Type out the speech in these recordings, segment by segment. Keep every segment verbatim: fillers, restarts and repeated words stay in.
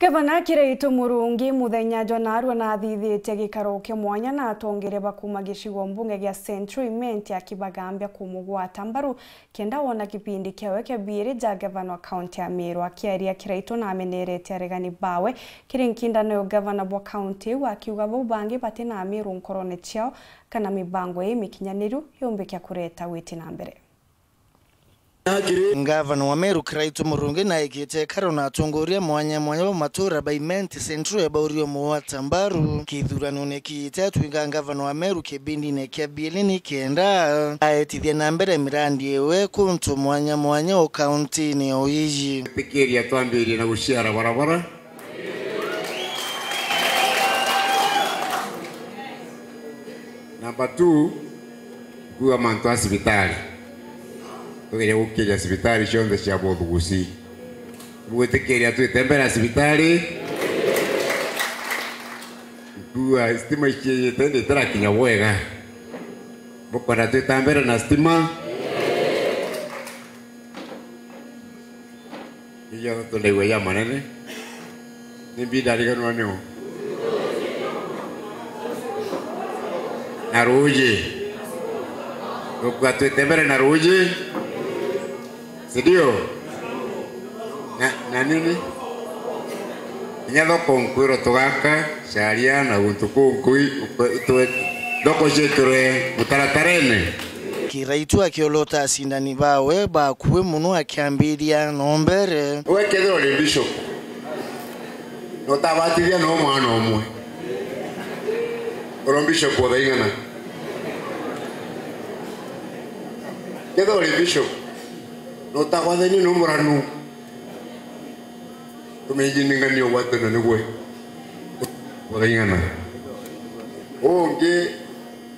Gavana Kiraitu Murungi muthenya jwa naarua naathithitie gikaro kia mwanya na atongeria ba kuuma gicigo mbunge gia Central Imenti akibagambia kumugwata mbaru kenda wona kipindi kiawe kia biiri ja gavana wa kaunti ya Meru. Akiaria, Kiraitu naamenerete aregani bawe kiri nkindano ya gavana bwa kaunti iu, akiuga bau bangi bati na Ameru nkorone ciao kana mibango ii mikinyaniru yumbikia kureta witi na mbere. Ngavana wa Meru Kiraitu Murungi naikite ikaro na atongoria mwanya mwanya ba matura ba Imenti Central ya baurio mugwata mbaru kithuranone kiite atwika ngavana wa Meru kibindine kia biiri ni kenda aetithia na mbere mirandi iwe kuntu mwanya mwanya o kauntine o iji. Tikiria twambirie na guciara barabara. Number two, kuuga mantu a cibitari. Tugerie gukiria cibitari cionthe cia Bothugusi. Bugwitikiria twite mbere ya cibitari? Nkuuga stima iciite ndi itirakinya bwega. Bukwenda twita mbere na stima? Ijo tundaigua ja manene. Ni mbi ndariganwa niu. Na ruuji. Gukua twite mbere na ruuji. Si ndio? Na, na nini? Kinya thoko nkwirwo tugaka, caria na guntu kunkui, twe-, thoko ciikirwe mutaratarene. Kiraitu akiolota acindani bawe bakui muno akiambiria no mbere. We kethira uri bishop, na utabatithia no mwana umwe, uri bishop o thaing'ana? Kethira uri bishop, na utagwathania no muranu, tumenye ni ng'ania ugwatana nigwe. O thaing'ana. Ungi,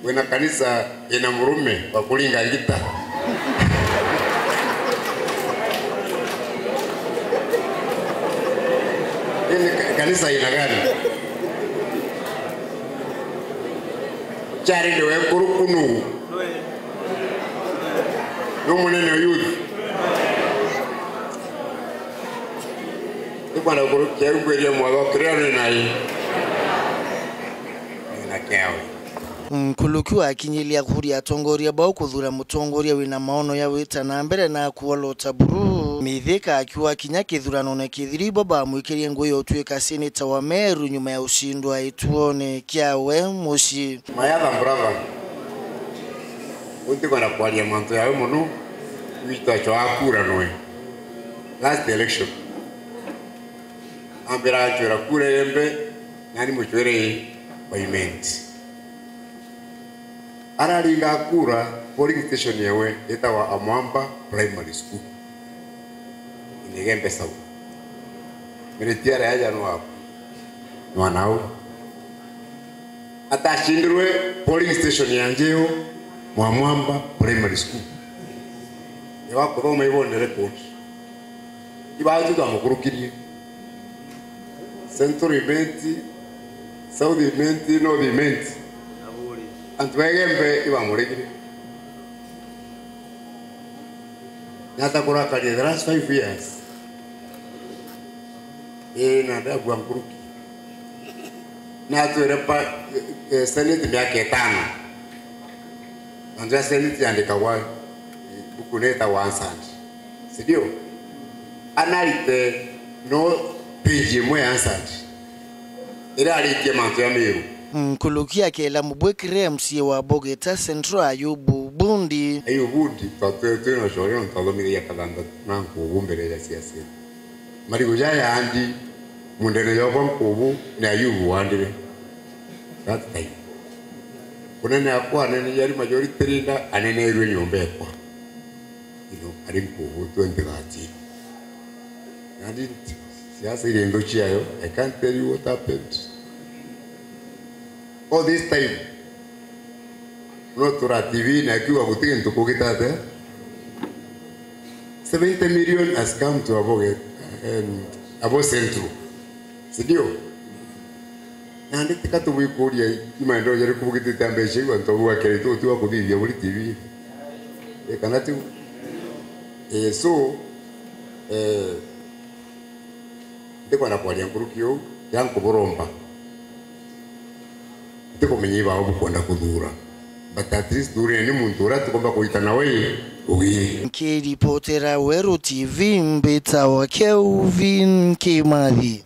wina kanisa ina murume wa kuringa ngita. Hii ni ka-, kanisa aina gani? Chari ndiwe nkuruku nu. Nu munene o youth. Ikwenda kurukia ngwirie mwago kiria ni nai. Na kiawe. Nkuruki wakinyiria kuria atongoria bau kuthura mutongoria wina maono ya wita na mbere na kuolota buru. Mithika akiuga kinya kithuranone kithiru ibo bamwikirie ngui ya utwika seneta wa Meru nyuma ya ucindwa ituone kiawe mucii. My other brother, utikwenda kwaria mantu yawe muno, witwa chwa kura noe. Last election. Ambira achwira kura yembe, nani muchwire i wa Imenti. Araringa kura, polling station yewe itagwa Amwamba Primary School. Inegembe South. Miriti aria aja no abu. Mwana u. Atacindirwe polling station ya Njeo, Mwamwamba Primary School. Ewa kuthoma ibone record. Ibatu twamukurukirie. Central Imenti, South Imenti, North Imenti. Antu ba Igembe ibamuregire. Nata kurakaria the last five years. Ii, na ndabua nkuruki. Natwire pa, eh, eh, Senate miaka itano. Mantu ya Senate yandikagwa, eh, buku ni itagwa Answered. Si ndio? Anarite no page imwe ya Answered. Iraritie mantu ya Meru. Nkuruki akela mubwikire M C A wa Bogeta Central Ayubu Bundi. Ayubu Bundi, twa-, twi-, twina ucorio nontu athomithagia kathanthatu na nkubu mbere ya siasa. Marigu jaya andi, mundene yokwa nkubu ni Ayubu wandire. That time. Kunene akwa anene yari majority leader, aneneirwe nyomba ekwa. You know, ari nkubu twenty thirteen. And it, siasa iri nthu ciayo, I can't tell you what happened. All this time, no tura T V na akiuga guti gintu kugitate. Seventy million has come to Aboge, um, Abo Central. Si ndio? Nandi tika tubwikuria i maendeleo jariku bugitite mbeca iu antu bau akere tu tiwa kuthithia buri T V. E, kana tiu? E, so, e, Ndikwenda kwaria nkuruki uu, kiria nkuburomba, ntikumenya ibao bukwenda kuthura, but at least thureni muntu uria tukomba kuita nawe ugi. Nkiripotera Weru T V, mbitawa Kelvin Kimathi.